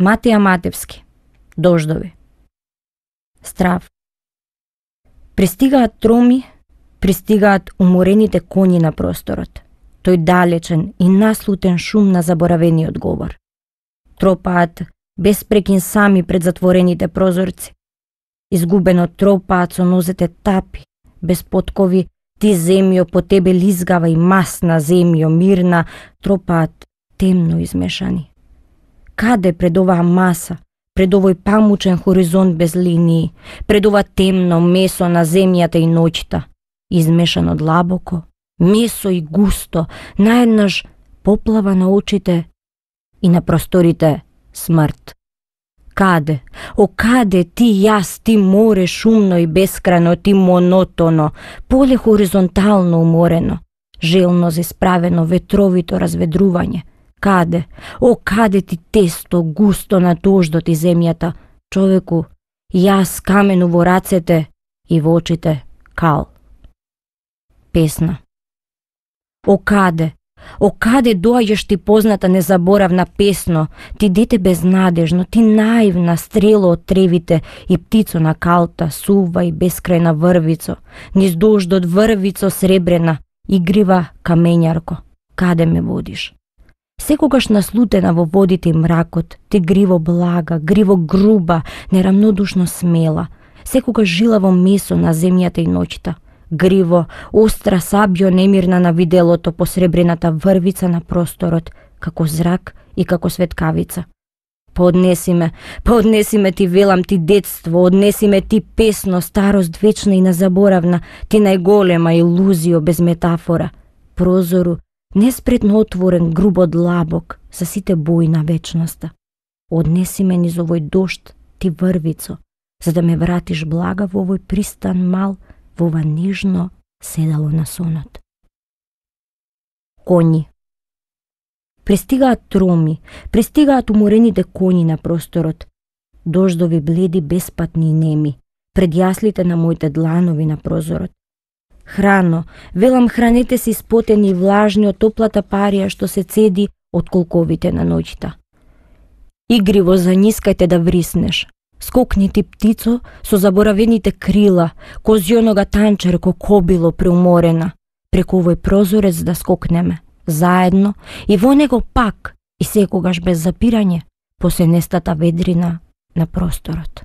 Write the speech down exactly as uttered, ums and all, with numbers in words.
Матеја Матевски. Дождови. Страв. Пристигаат троми, пристигаат уморените коњи на просторот. Тој далечен и наслутен шум на заборавениот говор. Тропаат без прекин сами пред затворените прозорци. Изгубено тропаат со нозете тапи, без поткови, ти земјо по тебе лизгава и масна земјо мирна, тропаат темно измешани. Каде пред оваа маса, пред овој памучен хоризонт без линии, пред ова темно месо на земјата и ноќта, измешано длабоко, месо и густо, наеднаш поплава на очите и на просторите смрт. Каде? О каде ти јас, ти море шумно и бескрајно, ти монотоно, поле хоризонтално уморено, желно зисправено ветровито разведрување. Каде? О каде ти тесто густо на дождот и земјата, човеку, јас камену во рацете и во очите кал. Песна. О каде? О каде доаѓаш ти позната незаборавна песно, ти дете безнадежно, ти наивна стрело од тревите и птицо на калта, сува и бескрајна врвицо, низ дождот врвицо сребрена, игрива камењарко, каде ме водиш? Секогаш наслутена во водите и мракот, ти гриво блага, гриво груба, нерамнодушно смела, секогаш жилаво месо на земјата и ноќта, гриво, остра сабјо немирна на виделото по сребрената врвица на просторот, како зрак и како светкавица. Пооднеси ме, пооднеси ме ти велам ти детство, однеси ме ти песно, старост вечна и незаборавна, ти најголема илузио без метафора, прозору, неспретно отворен грубо длабок за сите бои на вечноста. Однеси ме низ овој дожд, ти врвицо, за да ме вратиш блага во овој пристан мал, во ова нежно седало на сонот. Коњи. Пристигаат троми, пристигаат уморените коњи на просторот, дождови бледи, беспатни и неми, пред јаслите на моите дланови на прозорот. Храно, велам хранете се испотени и влажни од топлата парија што се цеди од колковите на ноќта. Игриво занискајте да вриснеш. Скокни ти птицо со заборавените крила, козјонога танчерко кобило преуморена, преку овој прозорец да скокнеме, заедно и во него пак и секогаш без запирање, по сенестата ведрина на просторот.